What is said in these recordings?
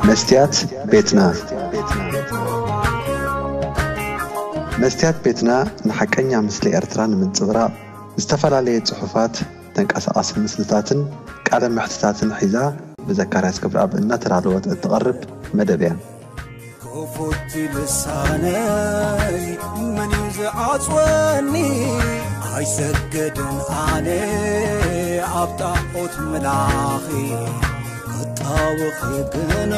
መስትያት ቤትና። መስትያት ቤትና ንሓቀኛ ምስሊ ኤርትራ ንምንጽብራቕ ዝተፈላለየ ጽሑፋት፣ ተንቀሳቓሲ ምስልታትን ቃለ መሕትታትን ሒዛ ብዘካርያስ ገብረኣብ እናተዳለወት እትቐርብ መደብ እያ። ክፉት ልሳነይ መን እዩ ዝዓጽወኒ? ኣይሰግድን ኣነ ኣብ ጣዖት ምላኺ፣ ክጣወኺ ግና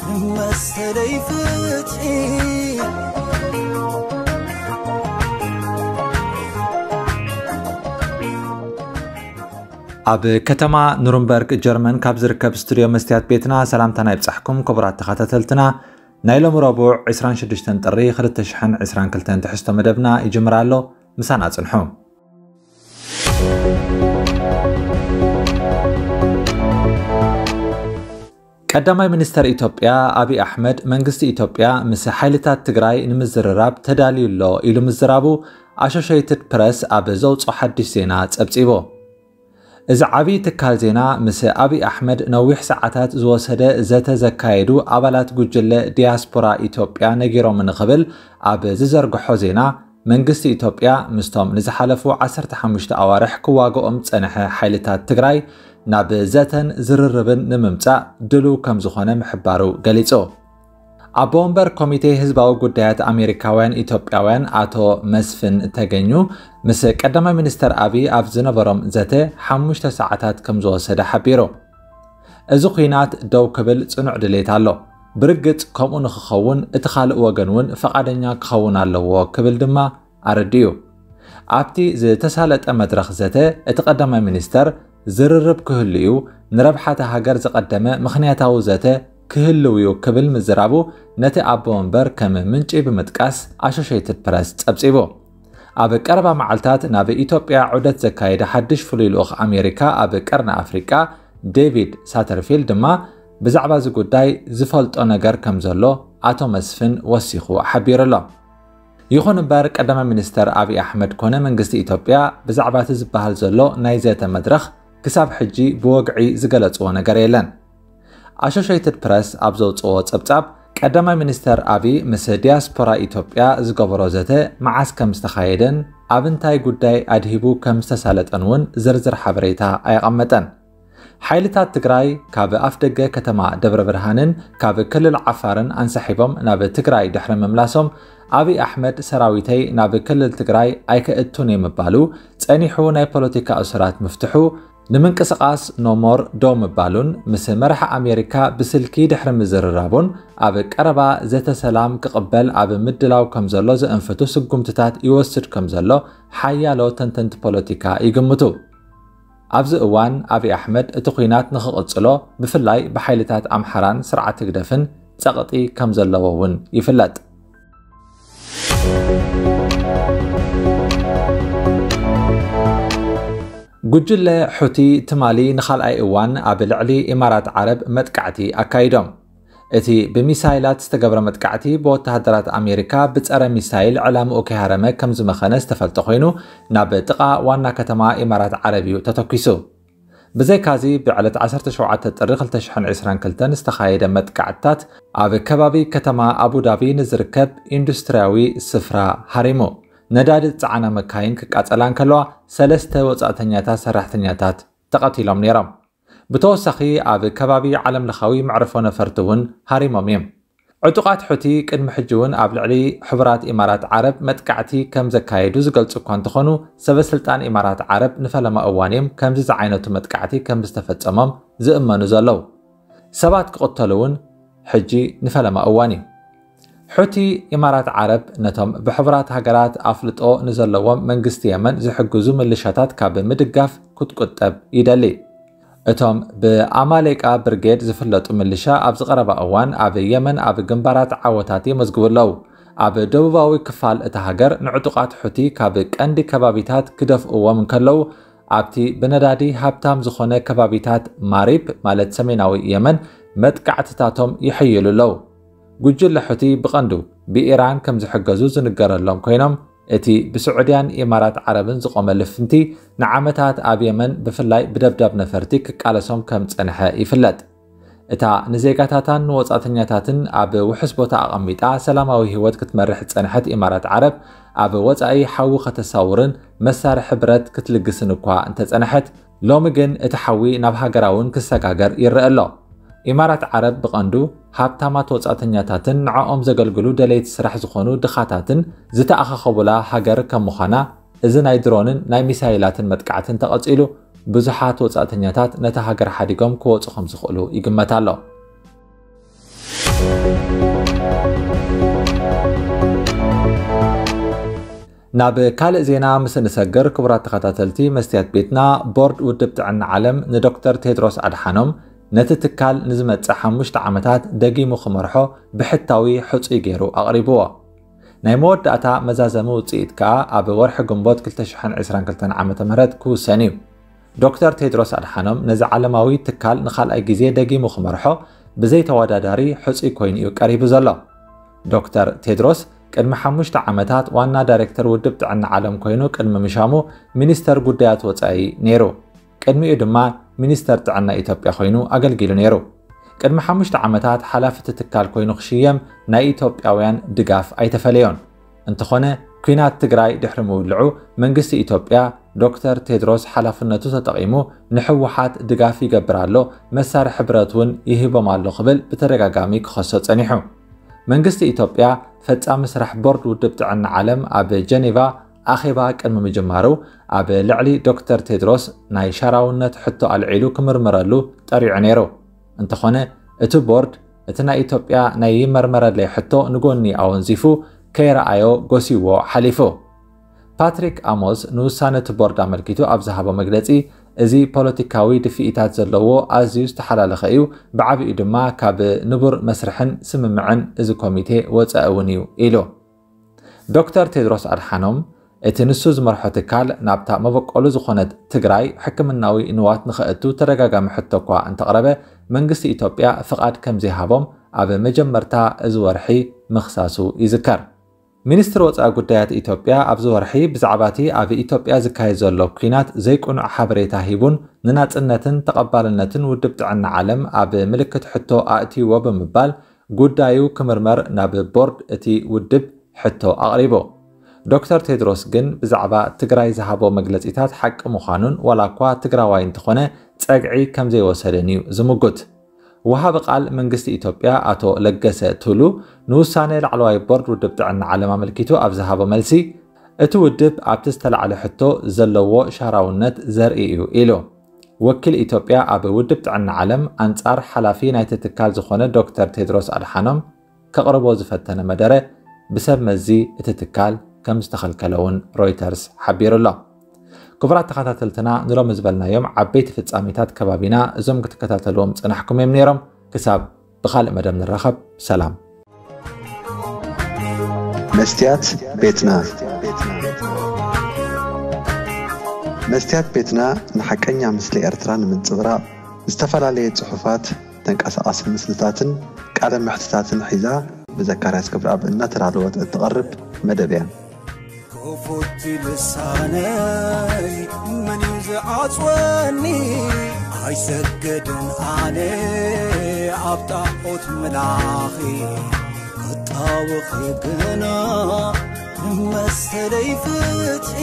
ንመሰለይ ፍትሒ። ኣብ ከተማ ኑርንበርግ ጀርመን ካብ ዝርከብ ስቱድዮ መስትያት ቤትና ሰላምታና ይብጻሕኩም ክቡራት ተኸታተልትና። ናይ ሎሚ ረቡዕ ዕስራን ሽዱሽተን ጥሪ ክልተ ሽሕን ዕስራን ክልተን ትሕዝቶ መደብና ይጅምር ኣሎ። ምሳና ጽንሑ። ቀዳማይ ሚኒስተር ኢትዮጵያ ኣብይ ኣሕመድ መንግስቲ ኢትዮጵያ ምስ ሓይልታት ትግራይ ንምዝርራብ ተዳልዩ ኣሎ ኢሉ ምዝራቡ ኣሶሼይትድ ፕረስ ኣብ ዘውፅኦ ሓድሽ ዜና ጸብጺቡ። እዚ ዓብዪ ትካል ዜና ምስ ኣብይ ኣሕመድ ነዊሕ ሰዓታት ዝወሰደ ዘተ ዘካየዱ ኣባላት ጉጅለ ዲያስፖራ ኢትዮጵያ ነጊሮምኒ ክብል ኣብ ዝዘርግሖ ዜና መንግስቲ ኢትዮጵያ ምስቶም ንዝሓለፉ ዓሰርተ ሓሙሽተ ኣዋርሕ ክዋግኦም ዝጸንሐ ሓይልታት ትግራይ ናብ ዘተን ዝርርብን ንምምጻእ ድሉው ከም ዝኾነ ምሕባሩ ገሊጹ። ኣቦ ወንበር ኮሚቴ ህዝባዊ ጉዳያት ኣሜሪካውያን ኢትዮጵያውያን ኣቶ መስፍን ተገኙ ምስ ቀዳማይ ሚኒስተር ኣብይ ኣብ ዝነበሮም ዘተ ሓሙሽተ ሰዓታት ከም ዝወሰደ ሓቢሩ። እዚ ኲናት ደው ክብል ጽኑዕ ድሌት ኣሎ። ብርግጽ ከምኡ ንኽኸውን እቲ ካልእ ወገን እውን ፈቓደኛ ክኸውን ኣለዎ ክብል ድማ ኣረዲኡ። ኣብቲ ዝተሳለጠ መድረኽ ዘተ እቲ ቀዳማይ ሚኒስተር ዝርርብ ክህሉ እዩ፣ ንረብሓ እታ ሃገር ዝቐደመ ምኽንያታዊ ዘተ ክህልው እዩ ክብል ምዝራቡ ነቲ ኣቦ ወንበር ከም ምንጪ ብምጥቃስ ኣሶሼይትድ ፕረስ ጸብጺቡ። ኣብ ቀረባ መዓልታት ናብ ኢትዮጵያ ዑደት ዘካየደ ሓድሽ ፍሉይ ልኡኽ ኣሜሪካ ኣብ ቀርኒ ኣፍሪቃ ዴቪድ ሳተርፊልድ ድማ ብዛዕባ እዚ ጉዳይ ዝፈልጦ ነገር ከም ዘሎ ኣቶ መስፍን ወሲኹ ሓቢሩ ኣሎ። ይኹን እምበር ቀዳማይ ሚኒስተር ኣብይ ኣሕመድ ኮነ መንግስቲ ኢትዮጵያ ብዛዕባ እቲ ዝበሃል ዘሎ ናይ ዘተ መድረኽ ክሳብ ሕጂ ብወግዒ ዝገለጽዎ ነገር የለን። ኣሶሼይትድ ፕረስ ኣብ ዘውጽኦ ጸብጻብ ቀዳማይ ሚኒስተር ኣብይ ምስ ዲያስፖራ ኢትዮጵያ ዝገበሮ ዘተ መዓስ ከም ዝተኻየደን ኣብ እንታይ ጉዳይ ኣድሂቡ ከም ዝተሳለጠን እውን ዝርዝር ሓበሬታ ኣየቐመጠን። ሓይልታት ትግራይ ካብ ኣፍደገ ከተማ ደብረ ብርሃንን ካብ ክልል ዓፋርን ኣንሳሒቦም ናብ ትግራይ ድሕሪ ምምላሶም ኣብይ ኣሕመድ ሰራዊተይ ናብ ክልል ትግራይ ኣይከእቱን እየ ምባሉ ጸኒሑ ናይ ፖለቲካ እሱራት ምፍትሑ ንምንቅስቓስ ኖሞር ደው ምባሉን ምስ መራሒ ኣሜሪካ ብስልኪ ድሕሪ ምዝርራቡን ኣብ ቀረባ ዘተ ሰላም ክቕበል ኣብ ምድላው ከም ዘሎ ዘእንፍቱ ስጉምትታት ይወስድ ከም ዘሎ ሓያሎ ተንተንቲ ፖለቲካ ይግምቱ። ኣብዚ እዋን ኣብይ ኣሕመድ እቲ ኲናት ንኽቕጽሎ ብፍላይ ብሓይልታት ኣምሓራን ስርዓት ህግደፍን ጸቕጢ ከም ዘለዎ እውን ይፍለጥ። ጉጅለ ሑቲ ትማሊ ንኻልኣይ እዋን ኣብ ልዕሊ ኢማራት ዓረብ መጥቃዕቲ ኣካይዶም። እቲ ብሚሳይላት ዝተገብረ መጥቃዕቲ ብወተሃደራት ኣሜሪካ ብጸረ ሚሳይል ዕላምኡ ከይሃረመ ከም ዝመኸነ ዝተፈልጠ ኮይኑ ናብ ጥቓ ዋና ከተማ ኢማራት ዓረብ እዩ ተተኲሱ። ብዘይካዚ ብዕለት ዓሰርተ ሸውዓተ ጥሪ ክልተ ሽሕን ዕስራን ክልተን ዝተኻየደ መጥቃዕትታት ኣብ ከባቢ ከተማ ኣቡዳቢ ንዝርከብ ኢንዱስትርያዊ ስፍራ ሃሪሙ። ነዳዲ ዝጸዓና መካይን ክቃጸላ እንከለዋ ሰለስተ ወጻእተኛታት ሰራሕተኛታት ተቐቲሎም ነይሮም። ብተወሳኺ ኣብ ከባቢ ዓለምለኻዊ መዕርፎ ነፈርቲ እውን ሃሪሞም እዮም። ዕጡቓት ሑቲ ቅድሚ ሕጂ እውን ኣብ ልዕሊ ሕቡራት ኢማራት ዓረብ መጥቃዕቲ ከም ዘካየዱ ዝገልጹ እኳ እንተኾኑ ሰበስልጣን ኢማራት ዓረብ ንፈለማ እዋን እዮም ከምዚ ዝዓይነቱ መጥቃዕቲ ከም ዝተፈጸሞም ዝእመኑ ዘለዉ። ሰባት ክቕተሉ እውን ሕጂ ንፈለማ እዋን እዩ። ሑቲ ኢማራት ዓረብ ነቶም ብሕቡራት ሃገራት ኣፍልጦ ንዘለዎም መንግስቲ የመን ዝሕግዙ ምልሻታት ካብ ምድጋፍ ክትቁጠብ ይደሊ። እቶም ብኣማሌቃ ብርጌድ ዝፍለጡ ምልሻ ኣብዚ ቀረባ እዋን ኣብ የመን ኣብ ግንባራት ዓወታት የመዝግቡ ኣለዉ። ኣብ ደቡባዊ ክፋል እታ ሃገር ንዕጡቓት ሑቲ ካብ ቀንዲ ከባቢታት ክደፍእዎም እንከለዉ ኣብቲ ብነዳዲ ሃብታም ዝኾነ ከባቢታት ማሪብ ማለት ሰሜናዊ የመን መጥቃዕትታቶም ይሕይሉ ኣለዉ። ጉጅለ ሑቲ ብቐንዱ ብኢራን ከም ዝሕገዙ ዝንገረሎም ኮይኖም እቲ ብስዑድያን ኢማራት ዓረብን ዝቖመ ልፍንቲ ንዓመታት ኣብ የመን ብፍላይ ብደብዳብ ነፈርቲ ክቃለሶም ከም ጸንሐ ይፍለጥ። እታ ንዜጋታታን ንወጻእተኛታትን ኣብ ውሑስ ቦታ ኣቐሚጣ ሰላማዊ ህይወት ክትመርሕ ዝጸንሐት ኢማራት ዓረብ፣ ኣብ ወጻኢ ሓዊ ከተሳውርን መሳርሒ ብረት ክትልግስን እኳ እንተጸንሐት፣ ሎሚ ግን እቲ ሓዊ ናብ ሃገራ እውን ክሰጋገር ይረአ ኣሎ። ኢማራት ዓረብ ብቐንዱ ሃብታማት ወጻእተኛታትን ንዕኦም ዘገልግሉ ደለይቲ ስራሕ ዝኾኑ ድኻታትን ዝተኣኻኸቡላ ሃገር ከም ምዃና፣ እዚ ናይ ድሮንን ናይ ሚሳይላትን መጥቃዕትን ተቐጺሉ፣ ብዙሓት ወጻእተኛታት ነታ ሃገር ሓዲጎም ክወጹ ከም ዝኽእሉ ይግመት ኣሎ። ናብ ካልእ ዜና ምስ እንሰግር፣ ክቡራት ተኸታተልቲ መስትያት ቤትና፣ ቦርድ ውድብ ጥዕና ዓለም ንዶክተር ቴድሮስ ኣድሓኖም ነቲ ትካል ንዝመጽእ ሓሙሽተ ዓመታት ደጊሙ ክመርሖ ብሕታዊ ሕጹይ ገይሩ ኣቕሪብዎ። ናይ መወዳእታ መዛዘሚ ውጽኢት ከኣ ኣብ ወርሒ ግንቦት ክልተ ሽሕን ዕስራን ክልተን ዓመተ ምህረት ክውሰን እዩ። ዶክተር ቴድሮስ ኣድሓኖም ነዚ ዓለማዊ ትካል ንኻልኣይ ግዜ ደጊሙ ክመርሖ ብዘይተወዳዳሪ ሕጹይ ኮይኑ እዩ ቀሪቡ ዘሎ። ዶክተር ቴድሮስ ቅድሚ ሓሙሽተ ዓመታት ዋና ዳይሬክተር ውድብ ጥዕና ዓለም ኮይኑ ቅድሚ ምሻሙ ሚኒስተር ጉዳያት ወጻኢ ነይሩ። ቅድሚኡ ድማ ሚኒስተር ጥዕና ኢትዮጵያ ኮይኑ ኣገልጊሉ ነይሩ። ቅድሚ ሓሙሽተ ዓመታት ሓላፊ እቲ ትካል ኮይኑ ክሽየም ናይ ኢትዮጵያውያን ድጋፍ ኣይተፈለዮን። እንተኾነ፣ ኲናት ትግራይ ድሕሪ ምውልዑ መንግስቲ ኢትዮጵያ ዶክተር ቴድሮስ ሓላፍነቱ ተጠቒሙ ንህወሓት ድጋፍ ይገብር ኣሎ፣ መሳርሒ ብረት እውን ይህቦም ኣሎ ክብል ብተደጋጋሚ ክኸሶ ጸኒሑ። መንግስቲ ኢትዮጵያ ፈጻሚ ስራሕ ቦርድ ውድብ ጥዕና ዓለም ኣብ ጀኔቫ ኣኼባ ቅድሚ ምጅማሩ ኣብ ልዕሊ ዶክተር ቴድሮስ ናይ ሻራውነት ሕቶ ኣልዒሉ ክምርምረሉ ጠሪዑ ነይሩ። እንተኾነ እቲ ቦርድ እቲ ናይ ኢትዮጵያ ናይ ይመርመረለይ ሕቶ ንጎኒ ኣወንዚፉ ከይረኣዮ ጎሲዎ ሓሊፉ። ፓትሪክ ኣሞስ ንውሳነ እቲ ቦርድ ኣመልኪቱ ኣብ ዝሃቦ መግለጺ፣ እዚ ፖለቲካዊ ድፍኢታት ዘለዎ ኣዝዩ ዝተሓላለኸ እዩ፣ ብዓቢኡ ድማ ካብ ንቡር መስርሕን ስምምዕን እዚ ኮሚቴ ወጻኢ እውን እዩ ኢሉ። ዶክተር ቴድሮስ ኣድሓኖም እቲ ንሱ ዝመርሖ ትካል ናብታ መበቆሉ ዝኾነት ትግራይ ሕክምናዊ ንዋት ንኸእቱ ተደጋጋሚ ሕቶ እኳ እንተቕረበ መንግስቲ ኢትዮጵያ ፍቓድ ከም ዘይሃቦም ኣብ መጀመርታ እዚ ወርሒ ምኽሳሱ ይዝከር። ሚኒስትሪ ወጻኢ ጉዳያት ኢትዮጵያ ኣብዚ ወርሒ ብዛዕባ እቲ ኣብ ኢትዮጵያ ዝካየድ ዘሎ ኲናት ዘይቅኑዕ ሓበሬታ ሂቡን ንናጽነትን ተቐባልነትን ውድብ ጥዕና ዓለም ኣብ ምልክት ሕቶ ኣእትይዎ ብምባል ጉዳዩ ክምርመር ናብ ቦርድ እቲ ውድብ ሕቶ ኣቕሪቡ። ዶክተር ቴድሮስ ግን ብዛዕባ ትግራይ ዝሃቦ መግለጺታት ሓቂ ምዃኑን ዋላ እኳ ትግራዋይ እንተኾነ ጸግዒ ከም ዘይወሰደን እዩ ዝምጉት። ወሃቢ ቃል መንግስቲ ኢትዮጵያ ኣቶ ለገሰ ቱሉ ንውሳነ ላዕለዋይ ቦርድ ውድብ ጥዕና ዓለም ኣመልኪቱ ኣብ ዝሃቦ መልሲ፣ እቲ ውድብ ኣብቲ ዝተላዕለ ሕቶ ዘለዎ ሻራውነት ዘርኢ እዩ ኢሉ። ወኪል ኢትዮጵያ ኣብ ውድብ ጥዕና ዓለም ኣንጻር ሓላፊ ናይቲ ትካል ዝኾነ ዶክተር ቴድሮስ ኣድሓኖም ከቕርቦ ዝፈተነ መደረ ብሰብ መዚ እቲ ትካል ከም ዝተኸልከለ እውን ሮይተርስ ሓቢሩ ኣሎ። ክቡራት ተኸታተልትና፣ ንሎሚ ዝበልናዮም ዓበይቲ ፍጻሜታት ከባቢና እዞም ክትከታተልዎም ዝጸናሕኩም እዮም ነይሮም። ክሳብ ብኻልእ መደብ ንራኸብ፣ ሰላም። መስትያት ቤትና። መስትያት ቤትና ንሓቀኛ ምስሊ ኤርትራ ንምንጽብራቕ ዝተፈላለየ ጽሑፋት፣ ተንቀሳቓሲ ምስልታትን ቃለ መሕትታትን ሒዛ ብዘካርያስ ክብረኣብ እናተዳለወት እትቐርብ መደብ እያ። ክፉት ልሳነይ መን እዩ ዝዓጽወኒ? ኣይሰገድን ኣነ ኣብ ጣዖት ምላኺ ክጣወኺ ግና ንመሰለይ ፍትሒ